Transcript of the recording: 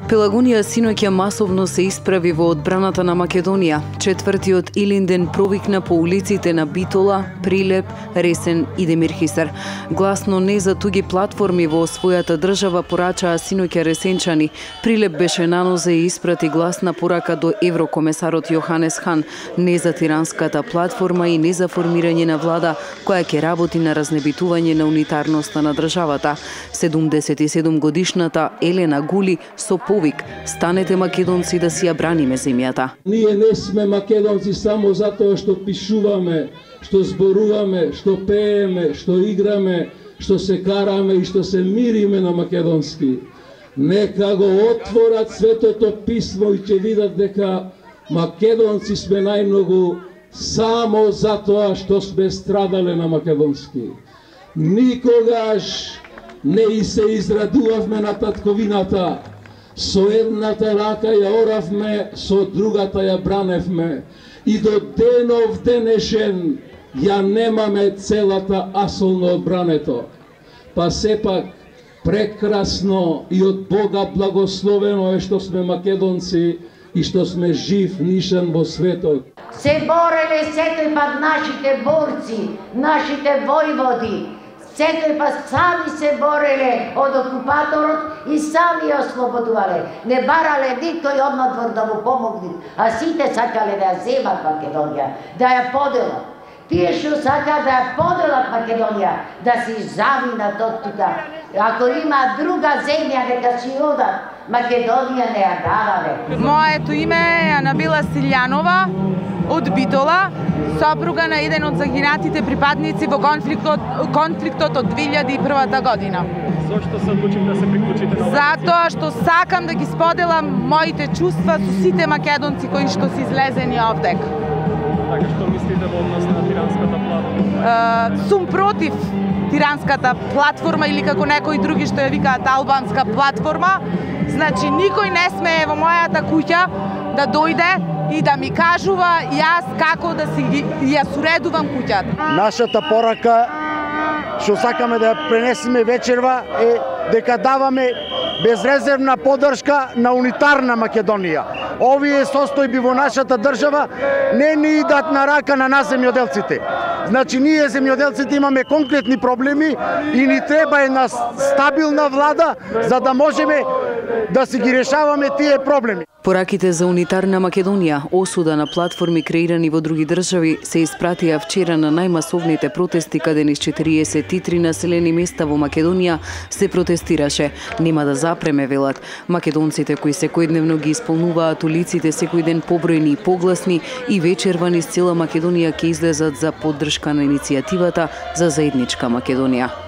Пелагонија синоќа масовно се исправи во одбраната на Македонија. Четвртиот Илинден провикна по улиците на Битола, Прилеп, Ресен и Демирхисар. Гласно не за туги платформи во својата држава порачаа синоќа ресенчани. Прилеп беше на нозе и испрати гласна порака до еврокомесарот Јоханес Хан, не за тиранската платформа и не за формирање на влада која ќе работи на разнебитување на унитарноста на државата. 77 годишната Елена Гули со повик: станете македонци да си ја браниме земјата. Ние не сме македонци само затоа што пишуваме, што зборуваме, што пееме, што играме, што се караме и што се мириме на македонски. Нека го отворат Светото писмо и ќе видат дека македонци сме најмногу само затоа што сме страдале на македонски. Никогаш не се израдувавме на татковината. Со едната рака ја оравме, со другата ја браневме. И до денов денешен ја немаме целата асолно одбрането. Па сепак прекрасно и од Бога благословено е што сме македонци и што сме жив нишан во светот. Се бореле секој пат нашите борци, нашите војводи. Секој пат сами се бореле од окупаторот и сами ја ослободувале. Не барале никој однадвор да му помогне, а сите сакале да ја земат Македонија, да ја поделат. Тие што сака да ја поделат Македонија, да си завинат од тука. Ако има друга земја, нека си одат. Македонија не ја давале. Моето име е Анабила Силјанова од Битола, сопруга на еден од загинатите припадници во конфликтот од 2001 година. Зошто се одлучив да се приклучите на оваа? Затоа што сакам да ги споделам моите чувства со сите македонци кои што се излезени овдек. Така што мислите во однос на тиранската платформа? Сум против тиранската платформа или како некои други што ја викаат албанска платформа. Значи никој не смее во мојата куќа да дојде и да ми кажува јас како да си ја суредувам куќата. Нашата порака што сакаме да ја пренесеме вечерва е дека даваме безрезервна поддршка на унитарна Македонија. Овие состојби во нашата држава не ни идат на рака на нас земјоделците. Значи ние земјоделците имаме конкретни проблеми и ни треба една стабилна влада за да можеме да си ги решаваме тие проблеми. Пораките за унитарна Македонија, осуда на платформи креирани во други држави, се испратија вчера на најмасовните протести каде низ 43 населени места во Македонија се протестираше. Нема да запреме, велат. Македонците кои секојдневно ги исполнуваат улиците секој ден побројни и погласни и вечерва низ цела Македонија ќе излезат за поддршка на иницијативата за заедничка Македонија.